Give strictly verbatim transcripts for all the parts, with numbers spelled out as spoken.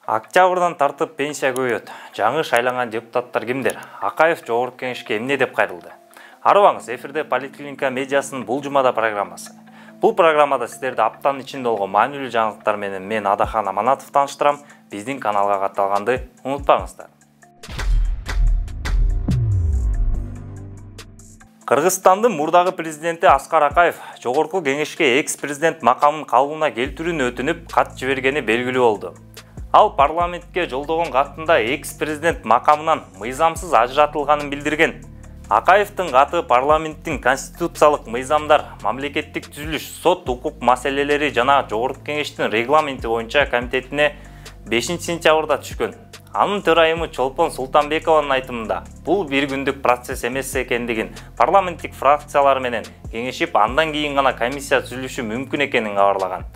Октябрдан тартып пенсия көбөйөт. Жаңы шайланган депутаттар кимдер? Акаев жогорку кеңешке эмне деп кайрылды? Арыбаңыз, эфирде Поликлиника медиасынын бул жумада программасы. Бул программада сиздерди аптанын ичинде болгон маанилүү жаңылыктар менен мен Адахан Аманатов тааныштырам. Биздин каналга катталганды унутпаңыздар. Кыргызстандын мурдагы президенти Аскар Акаев жогорку кеңешке экс-президент макамын калыбына келтирүүнү өтүнүп, кат жибергени белгилүү болду. Ал парламентке жолдогон катында экс-президент макамынан мыйзамсыз ажыратылганын билдирген. Акаевдин каты парламенттин конституциялык мыйзамдар, мамлекеттик түзүлүш, сот укук маселелери жана жогорку кеңештин регламенти боюнча комитетине бешинчи сентябрда түшкөн. Анын төрайымы Чолпон Султанбекованын айтымында, бул бир күндүк процесс эмес экендигин, парламенттик фракциялар менен кеңешип, андан кийин гана комиссия түзүлүшү мүмкүн экенин кабарлаган.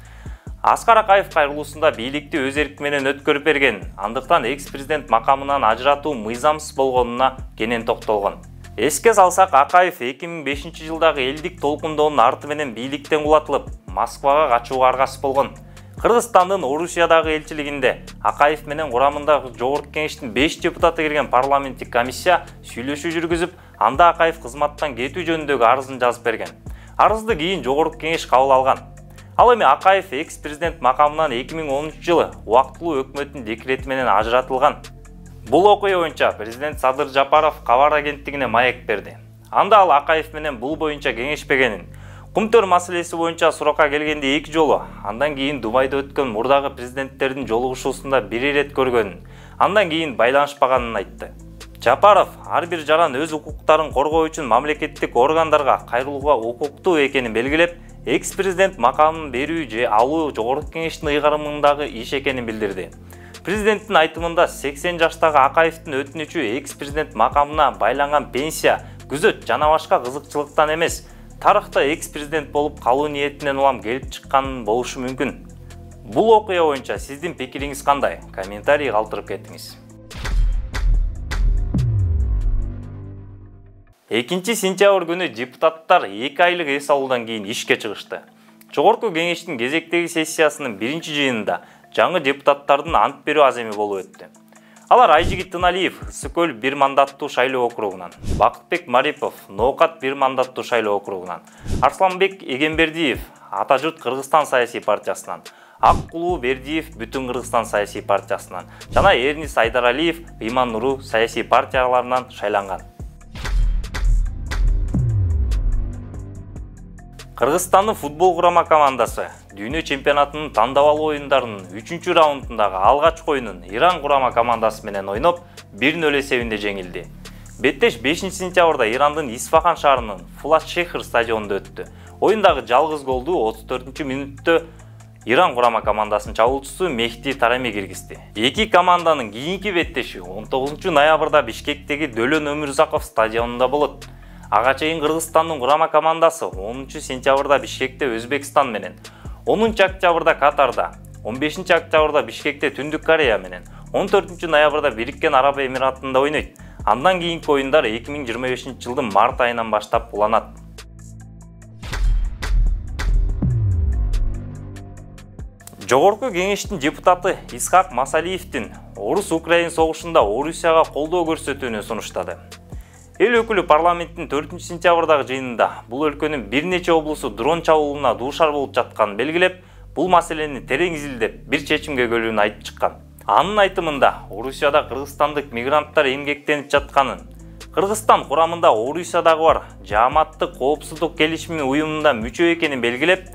Аскар Акаев кайрылуусунда бийликти өз эрки менен өткөрүп берген, андыктан экс-президент макамынан ажыратуу мыйзамсыз болгонуна кенен токтолгон. Эске салсак, Акаев эки миң бешинчи жылдагы элдик толкундоонун арты менен бийликтен кулатылып, Москвага качууга аргасыз болгон. Кыргызстандын Орусиядагы элчилигинде Акаев менен курамындагы жогорку кеңештин беш депутаты кирген парламенттик комиссия сүйлөшүү жүргүзүп, анда Акаев кызматтан кетүү жөнүндөгү арызын жазып берген. Арызды кийин жогорку кеңеш кабыл алган. Ал эми Акаев экс-президент макамынан эки миң онунчу жылы убактылуу өкмөттүн декрети менен ажыратылган. Бул окуя боюнча президент Садыр Жапаров кабар агенттигине маек берди. Анда ал Акаев менен бул боюнча кеңешпегенин, Кумтөр маселеси боюнча суракка келгенде эки жолу, андан кийин Дубайда өткөн мурдагы президенттердин жолугушуусунда бир ирет көргөнүн, андан кийин байланышпаганын айтты. Жапаров ар бир жаран өз укуктарын коргоо үчүн мамлекеттик органдарга кайрылууга укуктуу экенин белгилеп, экс-президент макамын берүү же алуу жогорку кеңештин ыйгарымындагы иш экенин билдирди. Президенттин айтымында сексен жаштагы Акаевдин өтүнүчү экс-президент макамына байланган пенсия, күзөт жана башка кызыкчылыктан эмес, тарыхта экс-президент болуп калуу ниетинен улам келип чыккан болушу мүмкүн. Бул окуя боюнча сиздин пикириңиз кандай? Комментарий калтырып кетиңиз. экинчи сентябрь күнү депутаттар эки айлык эс алуудан кийин ишке чыгышты. Жогорку кеңештин кезектеги сессиясынын биринчи жыйынында жаңы депутаттардын ант берүү аземи болуп өттү. Алар Айжигит Тыналиев Ысык көл бир мандаттуу шайлоо округунан, Бакытбек Марипов Ноокат бир мандаттуу шайлоо округунан, Арсланбек Эгембердиев Ата журт Кыргызстан саясий партиясынан, Аккулуу Бердиев Бүтүн Кыргызстан саясий партиясынан жана Эрнис Айдаралиев Ыйман Нуру саясий партияларынан шайланган. Кыргызстандын футбол курама командасы дүйнө чемпионатынын тандабалуу оюндарынын үчүнчү раундундагы алгачкы оюнун Иран курама командасы менен ойноп, бир нөл эсебинде жеңилди. Беттеш бешинчи сентябрда Ирандын Исфахан шаарынын Фулат-Шехр стадионунда өттү. Оюндагы жалгыз голду отуз төртүнчү мүнөттө Иран курама командасынын чабуулчусу Мехди Тарами киргизди. Эки команданын кийинки беттеши он тогузунчу ноябрда Бишкектеги Дөлөн Өмүрзаков стадионунда болот. Ага чейин Кыргызстандын курама командасы онунчу сентябрда Бишкекте Өзбекстан менен, онунчу октябрда Катарда, он бешинчи октябрда Бишкекте Түндүк Корея менен, он төртүнчү ноябрда Бириккен Араб Эмиратында ойнойт. Андан кийинки оюндар эки миң жыйырма бешинчи жылдын март айынан баштап уланат. Жогорку кеңештин депутаты Исхак Масалиевдин Орус-Украин согушунда Орусияга колдоо көрсөтүүнү сунуштады. Эл өкүлү парламенттин төртүнчү сентябрдагы жыйынында бул өлкөнүн бир нече облусу дрон чабуулуна дуушар болуп жатканын белгилеп, бул маселени терең изилдеп, бир чечимге келүүнү айтып чыккан. Анын айтымында Орусияда кыргызстандык мигранттар эмгектенип жатканын, Кыргызстан курамында Орусиядагы бар Жааматтык коопсуздук келишими уюмунда мүчө экенин белгилеп,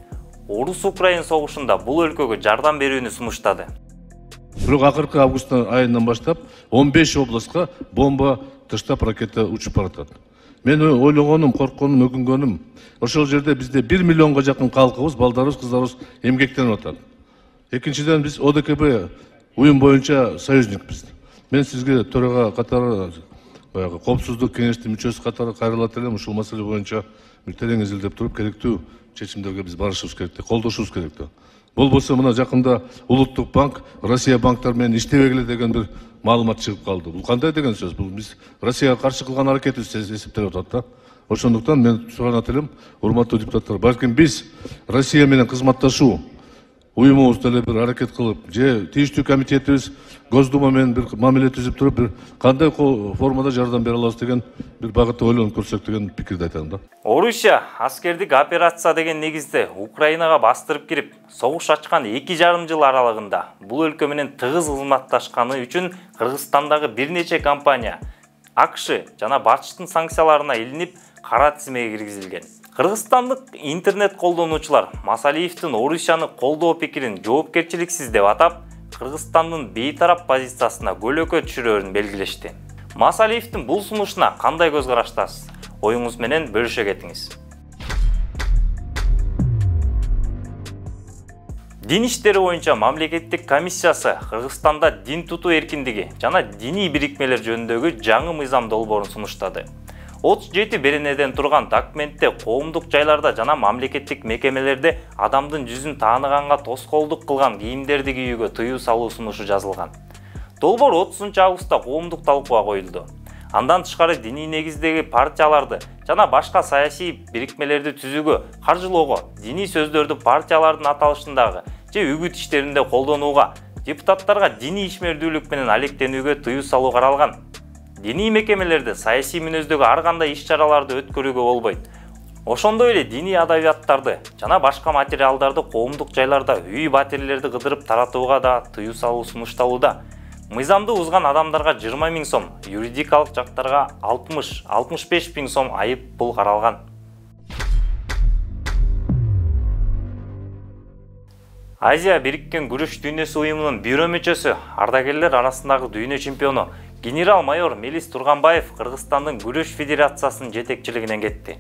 Орус-Украин согушунда бул өлкөгө жардам берүүнү сунуштады. Бирок акыркы август айынан баштап он беш областка бомба тыштап ракета учуп баратат. Мен ойлогонум, коркконум, өкүнгөнүм, ошол жерде бизде бир миллионго жакын калкыбыз, балдарыбыз, кыздарыбыз эмгектенип атат. Экинчиден биз О Д К Б уюм боюнча союзникпиз. Мен сизге төрага катары, баягы коопсуздук кеңештин мүчөсү катары кайрылат элем, ушул маселе боюнча бир терең изилдеп туруп, керектүү чечимдерге биз барышыбыз керек, колдошубуз керек. Болбосо мына жакында Улуттук банк Россия банктар менен иштебегиле деген бир маалымат чыгып калды. Бул кандай деген сөз? Бул биз Россияга каршы кылган аракетибиз эсептелип атат да. Ошондуктан мен суранат элем, урматтуу депутаттар, балким биз Россия менен кызматташуу, уюмубуз деле бир аракет кылып, же тийиштүү комитетибиз Госдума менен бир мамиле түзүп туруп, бир кандай формада жардам бере алабыз деген бир багытта ойлонуп көрсөк деген пикирди айтам да. Орусия аскердик операция деген негизде Украинага бастырып кирип, согуш ачкан эки жарым жыл аралыгында бул өлкө менен тыгыз кызматташканы үчүн Кыргызстандагы бир нече компания АКШ жана БАТШтын санкцияларына илинип, кара тизмеге киргизилген. Кыргызстандык интернет колдонуучулар Масалиевдин Орусияны колдоо пикирин жоопкерчиликсиз деп атап, Кыргызстандын бейтарап позициясына көлөкө түшүрөрүн белгилешти. Масалиевдин бул сунушуна кандай көз караштасыз? Оюңуз менен бөлүшө кетиңиз. Дин иштери боюнча мамлекеттик комиссиясы Кыргызстанда дин тутуу эркиндиги жана диний бирикмелер жөнүндөгү жаңы мыйзам долбоорун сунуштады. отуз жети беренеден турган документте коомдук жайларда жана мамлекеттик мекемелерде адамдын жүзүн тааныганга тоскоолдук кылган кийимдерди кийүүгө тыюу салуу сунушу жазылган. Долбоор отузунчу августта коомдук талкууга коюлду. Андан тышкары диний негиздеги партияларды жана башка саясий бирикмелерди түзүүгө, каржылоого, диний сөздөрдү партиялардын аталышындагы же үгүт иштеринде колдонууга, депутаттарга диний ишмердүүлүк менен алектенүүгө тыюу салуу каралган. Диний мекемелерде саясий мүнөздөгү ар кандай иш-чараларды өткөрүүгө болбойт. Ошондой эле диний адабияттарды жана башка материалдарды коомдук жайларда үй батирлерди кыдырып таратууга да тыюу салуу сунушталууда. Мыйзамды узган адамдарга жыйырма миң сом, юридикалык жактарга алтымыш — алтымыш беш миң сом айып пул каралган. Азия Бириккен күрөш дүйнөсү уюмунун бюро мүчөсү, ардагерлер арасындагы дүйнө чемпиону генерал-майор Мелис Турганбаев Кыргызстандын күрөш федерациясынын жетекчилигинен кетти.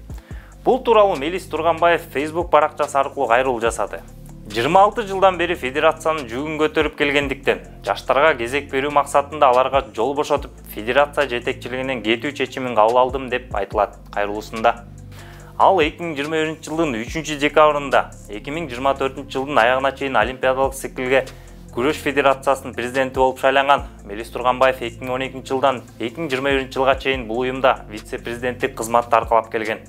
Бул тууралуу Мелис Турганбаев Facebook баракчасы аркылуу кайрылуу жасады. жыйырма алты жылдан бери федерациянын жүгүн көтөрүп келгендиктен, жаштарга кезек берүү максатында аларга жол бошотуп, федерация жетекчилигинен кетүү чечимин кабыл алдым деп айтылат кайрылуусунда. Ал эки миң жыйырма биринчи жылдын үчүнчү декабрында эки миң жыйырма төртүнчү жылдын аягына чейин олимпиадалык циклге Күрөш федерациясынын президенти болуп шайланган. Мелис Турганбаев эки миң он экинчи жылдан эки миң жыйырма биринчи жылга чейин бул уюмда вице-президенттик кызматты аркалап келген.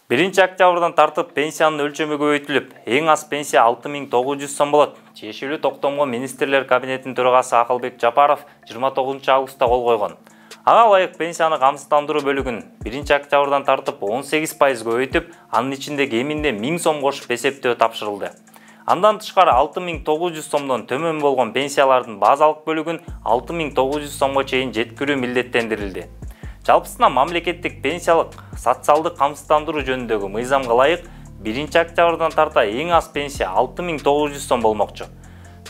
биринчи октябрдан тартып пенсиянын өлчөмү көбөйтүлүп, эң аз пенсия алты миң тогуз жүз сом болот. Тиешелүү токтомго министрлер кабинетинин төрагасы Акылбек Жапаров жыйырма тогузунчу августта кол койгон. Ага ылайык пенсияны камсыздандыруу бөлүгүн биринчи октябрдан тартып он сегиз пайыз көбөйтүп, анын ичинде кеминде миң сом кошуп эсептөө тапшырылды. Андан тышкары алты миң тогуз жүз сомдон төмөн болгон пенсиялардын базалык бөлүгүн алты миң тогуз жүз сомго чейин жеткирүү милдеттендирилди. Жалпысынан мамлекеттик пенсиялык социалдык камсыздандыруу жөнүндөгү мыйзамга ылайык биринчи октябрдан тарта эң аз пенсия алты миң тогуз жүз сом болмокчу.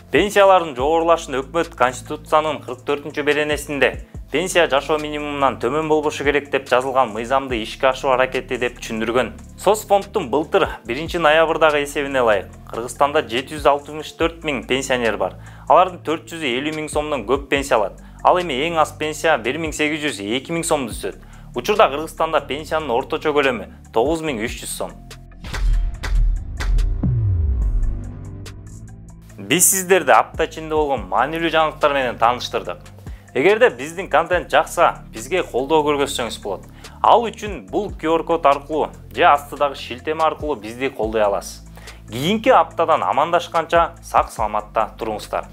Пенсиялардын жогорулашын өкмөт Конституциянын кырк төртүнчү беренесинде пенсия жашоо минимумунан төмөн болбошу керек деп жазылган мыйзамды ишке ашыруу аракети деп түшүндүргөн. Соцфонддун былтыр биринчи ноябрдагы эсебине ылайык Кыргызстанда жети жүз алтымыш төрт миң пенсионер бар. Алардын төрт жүз элүү миң сомдон көп пенсия алат. Ал эми эң аз пенсия бир миң сегиз жүз эки миң сомду түзөт. Учурда Кыргызстанда пенсиянын орточо көлөмү тогуз миң үч жүз сом. Биз сиздерди апта ичинде болгон маанилүү жаңылыктар менен тааныштырдык. Эгерде биздин контент жакса, бизге колдоо көргөзсөңүз болот. Ал үчүн бул ку ар код аркылуу же астыдагы шилтеме аркылуу бизди колдой аласыз. Кийинки аптадан амандашканча сак саламатта туруңуздар.